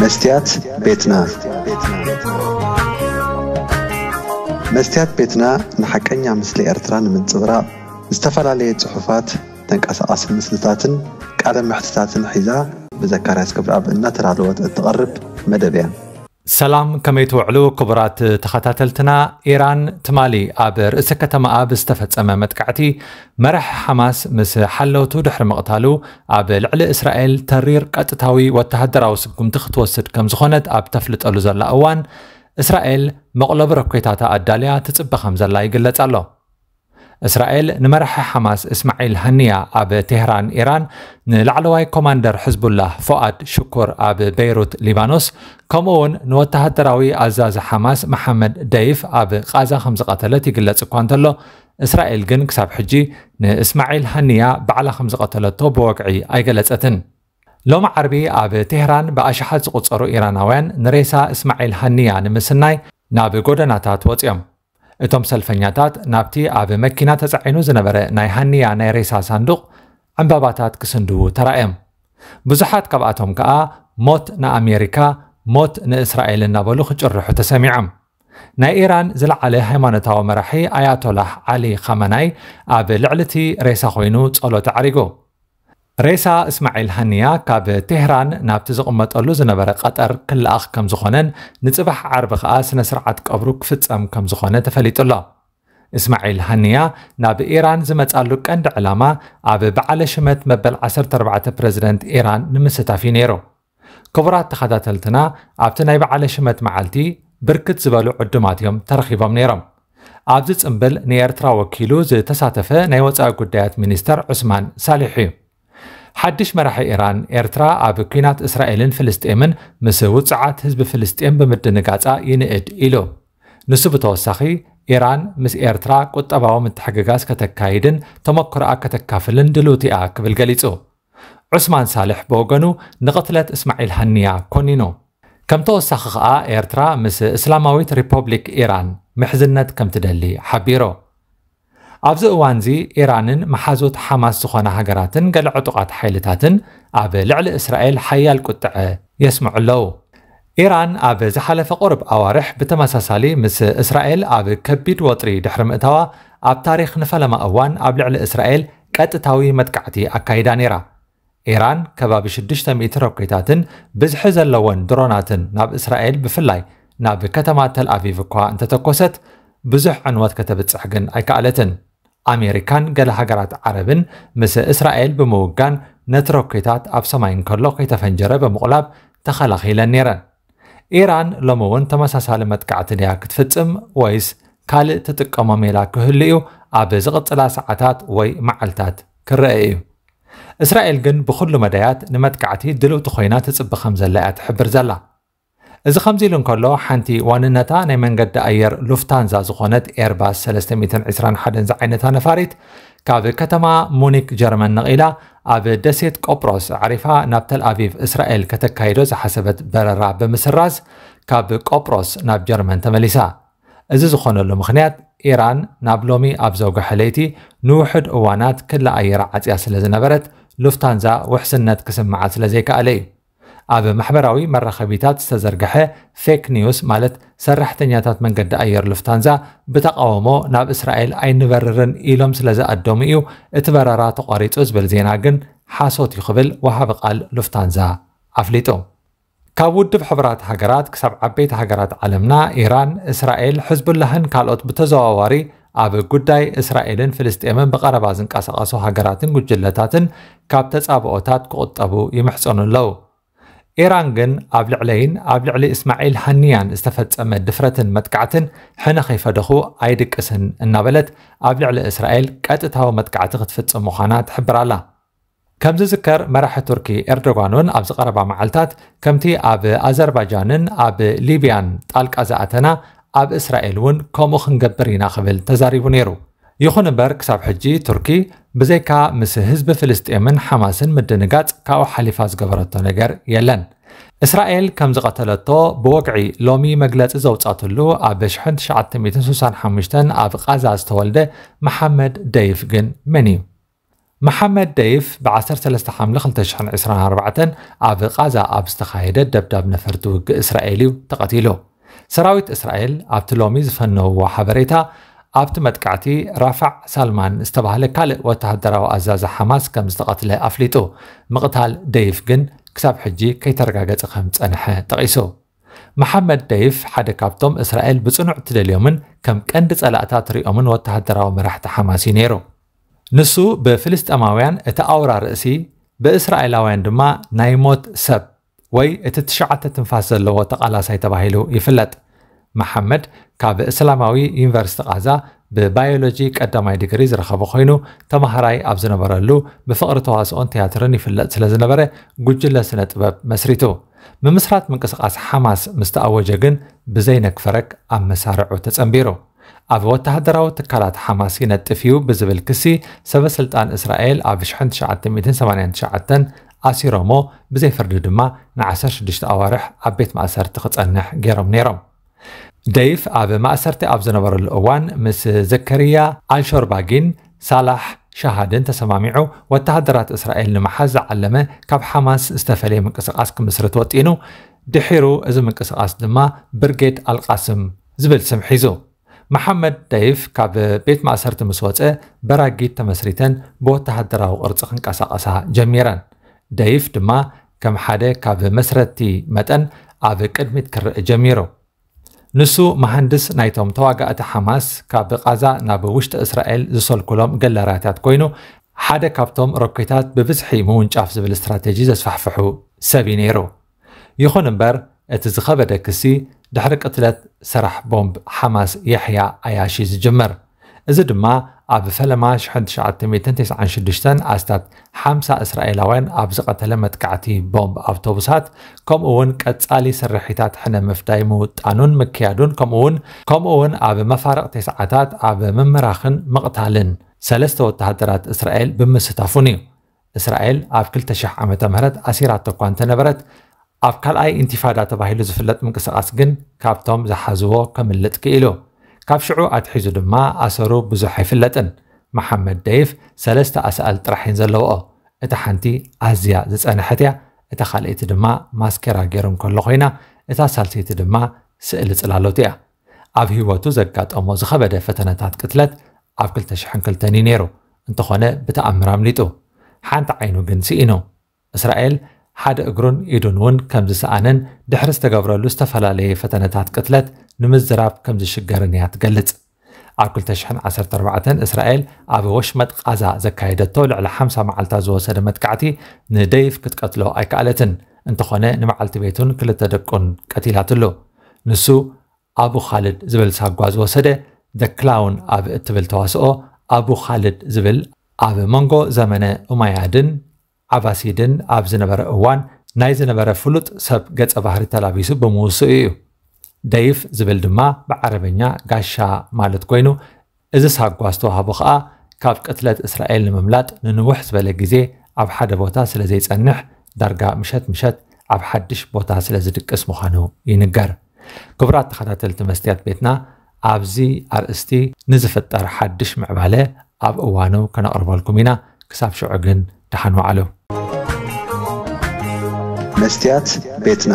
መስትያት ቤትና። መስትያት ቤትና ንሓቀኛ ምስሊ ኤርትራ ንምንጽብራቕ ዝተፈላለየ ጽሑፋት፣ ተንቀሳቓሲ ምስልታትን ቃለ መሕትታትን ሒዛ ብዘካርያስ ክብረኣብ እናተዳለወት እትቐርብ መደብ እያ። ሰላም፣ ከመይ ትውዕሉ ክቡራት ተኸታተልትና? ኢራን ትማሊ ኣብ ርእሰ ከተማኣ ብዝተፈጸመ መጥቃዕቲ መራሒ ሓማስ ምስ ሓለውቱ ድሕሪ ምቕታሉ ኣብ ልዕሊ እስራኤል ተሪር ቀጥታዊ ወተሃደራዊ ስጉምቲ ክትወስድ ከም ዝኾነት ኣብ ተፍልጠሉ ዘላ እዋን፣ እስራኤል መቕለቢ ሮኬታታ ኣዳልያ ትጽበ ከም ዘላ ይግለጽ ኣሎ። እስራኤል ንመራሒ ሓማስ እስማዒል ሃኒያ ኣብ ቴህራን ኢራን፣ ንላዕለዋይ ኮማንደር ሕዝቡላህ ፎኣድ ሽኩር ኣብ በይሩት ሊባኖስ፣ ከምኡ እውን ንወተሃደራዊ ኣዛዚ ሓማስ መሓመድ ደይፍ ኣብ ቃዛ ከም ዝቐተለት ይግለጽ እኳ እንተሎ፣ እስራኤል ግን ክሳብ ሕጂ ንእስማዒል ሃኒያ ባዕላ ከም ዝቐተለቶ ብወግዒ ኣይገለጸትን። ሎሚ ዓርቢ ኣብ ቴህራን ብኣሽሓት ዝቑጸሩ ኢራናውያን ንሬሳ እስማዒል ሃኒያ ንምስናይ ናብ ጎደናታት ወጺኦም። እቶም ሰልፈኛታት ናብቲ ኣብ መኪና ተጻዒኑ ዝነበረ ናይ ሃኒያ ናይ ሬሳ ሳንዱቕ ዕምባባታት ክስንድዉ ተራእዮም። ብዙሓት ካብኣቶም ከኣ "ሞት ንኣሜሪካ፣ ሞት ንእስራኤል" እናበሉ ክጭርሑ ተሰሚዖም። ናይ ኢራን ዝለዓለ ሃይማኖታዊ መራሒ ኣያቶላህ ዓሊ ኻመናይ ኣብ ልዕሊ እቲ ሬሳ ኮይኑ ጸሎት ኣዕሪጉ። ሬሳ እስማዒል ሃኒያ ካብ ቴህራን ናብቲ ዝቕመጠሉ ዝነበረ ቀጠር ክለኣኽ ከም ዝኾነን ንጽባሕ ዓርቢ ከኣ ስነ ስርዓት ቀብሩ ክፍጸም ከም ዝኾነ ተፈሊጡ ኣሎ። እስማዒል ሃኒያ ናብ ኢራን ዝመጻሉ ቀንዲ ዕላማ ኣብ በዓለ ሽመት መበል ዓሰርተ ኣርባዕተ ፕረዚደንት ኢራን ንምስታፍ እዩ ነይሩ። ክቡራት ተኸታተልትና፣ ኣብቲ ናይ በዓለ ሽመት መዓልቲ ብርክት ዝበሉ ዕዱማት እዮም ተረኺቦም ነይሮም። ኣብዚ ጽምብል ንኤርትራ ወኪሉ ዝተሳተፈ ናይ ወጻኢ ጉዳያት ሚኒስተር ዑስማን ሳሊሕ እዩ። ሓድሽ መራሒ ኢራን፣ ኤርትራ ኣብ ኲናት እስራኤልን ፍልስጤምን ምስ ውጽዓት ህዝቢ ፍልስጤም ብምድንጋጻ ይንእድ ኢሉ። ንሱ ብተወሳኺ፣ ኢራን ምስ ኤርትራ ቁጠባዊ ምትሕግጋዝ ከተካይድን ተመክሮኣ ከተካፍልን ድልውቲ እያ ክብል ገሊጹ። ዑስማን ሳልሕ ብወገኑ ንቕትለት እስማዒል ሃኒያ ኮኒኑ። ከም ተወሳኺ ኸኣ ኤርትራ ምስ እስላማዊት ሪፖብሊክ ኢራን ምሕዝነት ከም ትደሊ ሓቢሩ። ኣብዚ እዋንዚ ኢራንን መሓዙት ሓማስ ዝኾና ሃገራትን ገለ ዕጡቓት ሓይልታትን ኣብ ልዕሊ እስራኤል ሓያል ቁጥዐ የስምዑ ኣለዉ። ኢራን ኣብ ዝሓለፈ ቁሩብ ኣዋርሕ ብተመሳሳሊ ምስ እስራኤል ኣብ ከቢድ ወጥሪ ድሕሪ ምእታዋ፣ ኣብ ታሪኽ ንፈለማ እዋን ኣብ ልዕሊ እስራኤል ቀጥታዊ መጥቃዕቲ ኣካይዳ ነይራ። ኢራን ከባቢ ሽዱሽተ ሚእቲ ሮኬታትን ብዝሒ ዘለወን ድሮናትን ናብ እስራኤል፣ ብፍላይ ናብ ከተማ ተልኣቪቭ እኳ እንተተኮሰት፣ ብዙሕ ዕንወት ከተብጽሕ ግን ኣይከኣለትን። ኣሜሪካን ገለ ሃገራት ዓረብን ምስ እስራኤል ብምውጋን፣ ነቲ ሮኬታት ኣብ ሰማይ እንከሎ ከይተፈንጀረ ብምቑላብ ተኸላኺለን ነይረን። ኢራን ሎሚ እውን ተመሳሳሊ መጥቃዕቲ ድያ ክትፍጽም፣ ወይስ ካልእ ትጥቀሞ ሜላ ክህሉ እዩ? ኣብ ዝቕጽላ ሰዓታት ወይ መዓልታት ክረአ እዩ። እስራኤል ግን ብኹሉ መዳያት ንመጥቃዕቲ ድልውቲ ኮይና ትጽቢ ከም ዘላ እያ ትሕብር ዘላ። እዚ ከምዚ ኢሉ እንከሎ፣ ሓንቲ ዋንነታ ናይ መንገዲ ኣየር ሉፍታንዛ ዝኾነት ኤርባስ ሰለስተ ሚእትን ዕስራን ሓደን ዝዓይነታ ነፋሪት፣ ካብ ከተማ ሙኒክ ጀርመን ነቒላ፣ ኣብ ደሴት ቆጵሮስ ኣዕሪፋ ናብ ተልኣቪቭ እስራኤል ከተካይዶ ዝሓሰበት በረራ ብምስራዝ፣ ካብ ቆጵሮስ ናብ ጀርመን ተመሊሳ። እዚ ዝኾነሉ ምኽንያት፣ ኢራን ናብ ሎሚ ኣብ ዘውግሐ ለይቲ ንውሑድ እዋናት ክሊ ኣየራ ዓጽያ ስለ ዝነበረት፣ ሉፍታንዛ ውሕስነት ክስምዓ ስለ ዘይከኣለ እዩ። ኣብ ማሕበራዊ መራኸቢታት ዝተዘርግሐ ፌክ ኒውስ፣ ማለት ሰራሕተኛታት መንገዲ ኣየር ሉፍታንዛ ብተቓውሞ ናብ እስራኤል ኣይንበርርን ኢሎም ስለ ዝኣደሙ እዩ እቲ በረራ ተቋሪጹ ዝብል ዜና ግን ሓሶት እዩ ክብል ወሃቢ ቃል ሉፍታንዛ ኣፍሊጡ። ካብ ውድብ ሕቡራት ሃገራት ክሳብ ዓበይቲ ሃገራት ዓለምና፣ ኢራን፣ እስራኤል፣ ሕዝቡላህን ካልኦት ብተዘዋዋሪ ኣብ ጉዳይ እስራኤልን ፍልስጤምን ብቐረባ ዝንቀሳቐሱ ሃገራትን ጉጅለታትን ካብ ተጻብኦታት ክቑጠቡ ይምሕጸኑ ኣለዉ። ኢራን ግን ኣብ ልዕለይን ኣብ ልዕሊ እስማዒል ሃኒያን ዝተፈጸመ ድፍረትን መጥቃዕትን ሕነ ከይፈደኹ ኣይድቅስን እናበለት ኣብ ልዕሊ እስራኤል ቀጥታዊ መጥቃዕቲ ክትፍጽም ምዃና ትሕብር ኣላ። ከም ዝዝከር፣ መራሒ ቱርኪ ኤርዶጋን እውን ኣብዚ ቀረባ መዓልታት፣ ከምቲ ኣብ ኣዘርባጃንን ኣብ ሊብያን ጣልቃ ዝኣተና፣ ኣብ እስራኤል እውን ከምኡ ክንገብር ኢና ክብል ተዛሪቡ ነይሩ። ይኹን እምበር፣ ክሳብ ሕጂ ቱርኪ ብዘይካ ምስ ህዝቢ ፍልስጤምን ሓማስን ምድንጋጽ ካብኡ ሓሊፋ ዝገበረቶ ነገር የለን። እስራኤል ከም ዝቐተለቶ ብወግዒ ሎሚ መግለጺ ዘውጻትሉ፣ ኣብ ሽሕን ትሽዓተ ሚእትን ስሳን ሓሙሽተን ኣብ ቓዛ ዝተወልደ መሓመድ ደይፍ ግን መን እዩ? መሓመድ ደይፍ ብ13 ሓምለ ክልተ ሽሕን ዕስራን ኣርባዕተን ኣብ ቓዛ ኣብ ዝተኻየደ ደብዳብ ነፈርቲ ውግእ እስራኤል እዩ ተቐቲሉ። ሰራዊት እስራኤል ኣብቲ ሎሚ ዝፈነውዎ ሓበሬታ፣ ኣብቲ መጥቃዕቲ ራፋዕ ሳልማን ዝተባህለ ካልእ ወተሃደራዊ ኣዛዚ ሓማስ ከም ዝተቐትለ ኣፍሊጡ። ምቕታል ደይፍ ግን ክሳብ ሕጂ ከይተረጋገጸ ከም ዝጸንሐ ጠቒሱ። መሓመድ ደይፍ ሓደ ካብቶም እስራኤል ብጽኑዕ ትደልዮምን ከም ቀንዲ ጸላእታ ትሪኦምን ወተሃደራዊ መራሕቲ ሓማስ እዩ ነይሩ። ንሱ ብፍልስጤማውያን እቲ ኣውራ ርእሲ፣ ብእስራኤላውያን ድማ ናይ ሞት ሰብ ወይ እቲ ትሽዓተ ትንፋስ ዘለዎ ተቓላሳይ ተባሂሉ ይፍለጥ። መሓመድ ካብ እስላማዊ ዩኒቨርሲቲ ቓዛ ብባዮሎጂ ቀዳማይ ዲግሪ ዝረኸበ ኮይኑ፣ ተማሃራይ ኣብ ዝነበረሉ ብፍቕሪ ተዋስኦን ቲያትርን ይፍለጥ ስለ ዝነበረ፣ ጉጅለ ስነ ጥበብ መስሪቱ። ምምስራት ምንቅስቓስ ሓማስ ምስ ተኣወጀ ግን ብዘይነግፈረግ ኣብ መሳርዑ ተጸንቢሩ። ኣብ ወተሃደራዊ ትካላት ሓማስ ይነጥፍ እዩ ብዝብል ክሲ፣ ሰበ ስልጣን እስራኤል ኣብ ሽሕን ትሽዓተ ሚእትን ሰማንያን ትሽዓተን ኣሲሮሞ፣ ብዘይ ፍርዲ ድማ ን16 ኣዋርሕ ኣብ ቤት ማእሰርቲ ክጸንሕ ገይሮም ነይሮም። ደይፍ ኣብ ማእሰርቲ ኣብ ዝነበረሉ እዋን ምስ ዘከርያ ኣልሾርባጊን ሳላሕ ሻሃድን ተሰማሚዑ፣ ወተሃደራት እስራኤል ንምሓዝ ዝዓለመ ካብ ሓማስ ዝተፈለየ ምንቅስቓስ ክምስርት ወጢኑ። ድሒሩ እዚ ምንቅስቓስ ድማ ብርጌድ ኣልቃስም ዝብል ስም ሒዙ። መሓመድ ደይፍ ካብ ቤት ማእሰርቲ ምስ ወጸ፣ በራጊድ ተመስሪተን ብወተሃደራዊ ቅርጺ ክንቀሳቐሳ ጀሚረን። ደይፍ ድማ ከም ሓደ ካብ መስረቲ መጠን ኣብ ቅድሚት ክረአ ጀሚሩ። ንሱ መሃንድስ ናይቶም ተዋጋእቲ ሓማስ ካብ ቓዛ ናብ ውሽጢ እስራኤል ዝሰልኩሎም ገለራታት ኮይኑ፣ ሓደ ካብቶም ሮኬታት ብብዝሒ ምውንጫፍ ዝብል ስትራቴጂ ዘስፋሕፍሑ ሰብ እዩ ነይሩ። ይኹን እምበር፣ እቲ ዝኸበደ ክሲ ድሕሪ ቅትለት ሰራሕ ቦምብ ሓማስ የሕያ ኣያሺ ዝጅምር። እዚ ድማ ኣብ ፈለማ ሽሕን ትሽዓተ ሚእትን ተስዓን ሽዱሽተን ኣስታት ሓምሳ እስራኤላውያን ኣብ ዝቐተለ መጥቃዕቲ ቦምብ ኣውቶቡሳት፣ ከምኡ እውን ቀጻሊ ስርሒታት ሕነ ምፍዳይ ምውጣኑን ምክያዱን፣ ከምኡ እውን፣ ከምኡ እውን ኣብ መፋርቕ ተስዓታት ኣብ ምምራኽን ምቕታልን ሰለስተ ወተሃደራት እስራኤል ብምስታፉን እዩ። እስራኤል ኣብ ክልተ ሽሕ ዓመተ ምህረት ኣሲራቶ እኳ እንተነበረት፣ ኣብ ካልኣይ ኢንቲፋዳ ተባሂሉ ዝፍለጥ ምንቅስቓስ ግን ካብቶም ዝሓዝዎ ከምልጥ ክኢሉ። ካብ ሽዑ ኣትሒዙ ድማ ኣሰሩ ብዙሕ ኣይፍለጥን። መሓመድ ደይፍ ሰለስተ ኣሳእል ጥራሕ እየን ዘለውኦ። እታ ሓንቲ ኣዝያ ዝጸንሐት እያ፣ እታ ካልኣይቲ ድማ ማስኬራ ገይሩ እንከሎ ኮይና፣ እታ ሳልሰይቲ ድማ ስእሊ ጽላሎት እያ። ኣብ ህይወቱ ዘጋጠሞ ዝኸበደ ፈተነታት ቅትለት ኣብ ክልተ ሽሕን ክልተን እዩ ነይሩ። እንተኾነ ብተኣምር ኣምሊጡ። ሓንቲ ዓይኑ ግን ስኢኑ። እስራኤል ሓደ እግሩን ኢዱን እውን ከም ዝሰኣነን ድሕሪ ዝተገብረሉ ዝተፈላለየ ፈተነታት ቅትለት ንምዝራብ ከም ዝሽገርን እያ ትገልጽ። ኣብ ክልተ ሽሕን ዓሰርተ ኣርባዕተን እስራኤል ኣብ ወሽመጥ ቓዛ ዘካየደቶ ልዕሊ ሓምሳ መዓልታት ዝወሰደ መጥቃዕቲ ንደይፍ ክትቀትሎ ኣይከኣለትን። እንተኾነ ንመዓልቲ ቤቱን ክልተ ደቁን ቀቲላትሉ። ንሱ ኣቡ ኻልድ ዝብል ሳጓ ዝወሰደ፣ ደ ክላውን ኣብ እትብል ተዋስኦ፣ ኣቡ ኻልድ ዝብል ኣብ መንጎ ዘመነ ኡማያድን ዓባሲድን ኣብ ዝነበረ እዋን ናይ ዝነበረ ፍሉጥ ሰብ ገጸ ባህሪ ተላቢሱ ብምውስኡ እዩ። ደይፍ ዝብል ድማ ብዓረበኛ ጋሻ ማለት ኮይኑ፣ እዚ ሳጓ ዝተዋህቦ ኸኣ ካብ ቅትለት እስራኤል ንምምላጥ ንንውሕ ዝበለ ግዜ ኣብ ሓደ ቦታ ስለ ዘይጸንሕ፣ ዳርጋ ምሸት ምሸት ኣብ ሓድሽ ቦታ ስለ ዝድቅስ ምዃኑ ይንገር። ክቡራት ተኸታተልቲ መስትያት ቤትና፣ ኣብዚ ኣርእስቲ ንዝፍጠር ሓድሽ ምዕባለ ኣብ እዋኑ ከነቕርበልኩም ኢና። ክሳብ ሽዑ ግን ደሓን ዋዕሉ። መስትያት ቤትና።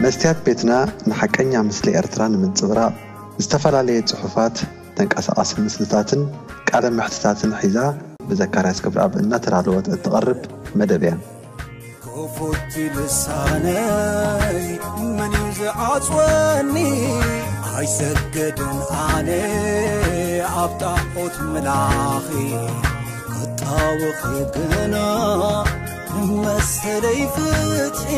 መስትያት ቤትና ንሓቀኛ ምስሊ ኤርትራ ንምንጽብራቕ ዝተፈላለየ ጽሑፋት፣ ተንቀሳቓሲ ምስልታትን ቃለ መሕትታትን ሒዛ ብዘካርያስ ክብረኣብ እናተዳለወት እትቐርብ መደብ እያ። ክፉት ልሳነይ መን እዩ ዝዓጽወኒ? ኣይሰገድን ኣነ ኣብ ጣዖት ምላኺ፣ ክጣወኺ ግና ንመሰለይ ፍትሒ።